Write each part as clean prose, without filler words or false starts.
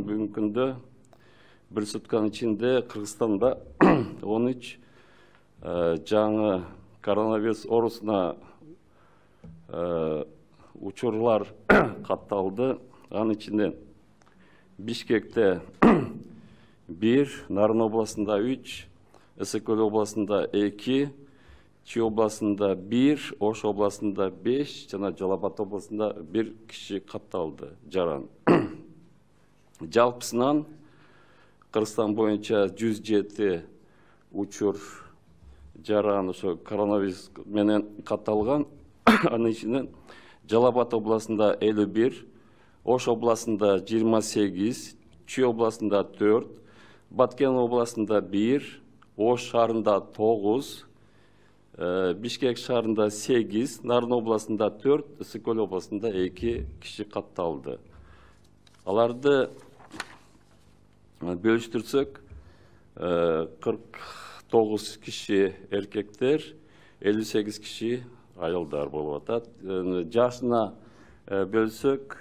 Бүгүнкү күндө bir сутканын ичинде Кыргызстанда 13 жаңы коронавирус оорусуна учурлар катталды. Анын ичинде Бишкекте 1, Нарын областында 3, Ысык-Көл областында 2, Чүй областында 1, Ош областында 5 жана Жалал Абад областында 1 киши катталды жаран. Жалпысынан Кыргызстан боюнча 107 учур жаран ошо коронавирус менен катталган. Анын ичинен Жалал Абад областында 51, Ош областында 28, Чүй областында 4, Баткен областында 1, Ош шаарында 9, Бишкек шаарында 8, Нарын областында 4, Ысык-Көл областында 2 киши катталды. Аларды бөлүштүрсөк, 49 киши эркектер, 58 киши аялдар болуп атат. Жашына бөлсөк,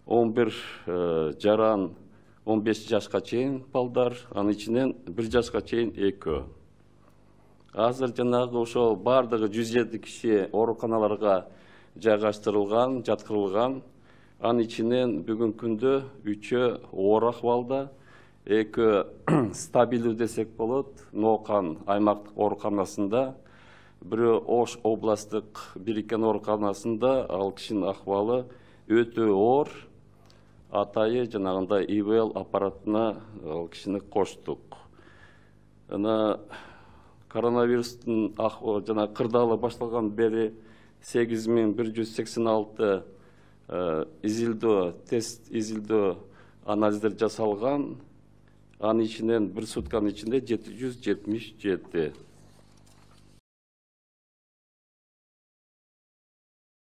11 жаран 15 жашка чейин балдар, анын ичинен 1 жашка чейин 2. Азыр жанагы ошол бардыгы 107 киши ооруканаларга жайгаштырылган, жаткырылган. Анын ичинен бүгүнкү күндө 3 оор акыбалда, 2 стабилдүү десек болот, Ноокан аймактык ооруканасында, бирөө Ош областтык бириккен ооруканасында, ал кишинин акыбалы өтө оор. Атайы жанагындай ИВЛ аппаратына ал кишини коштук. Жана коронавирустун жана кырдаалы башталган бери 8186 тест изилдөө анализдер жасалган. Анын ичинен bir сутканын ичинде 777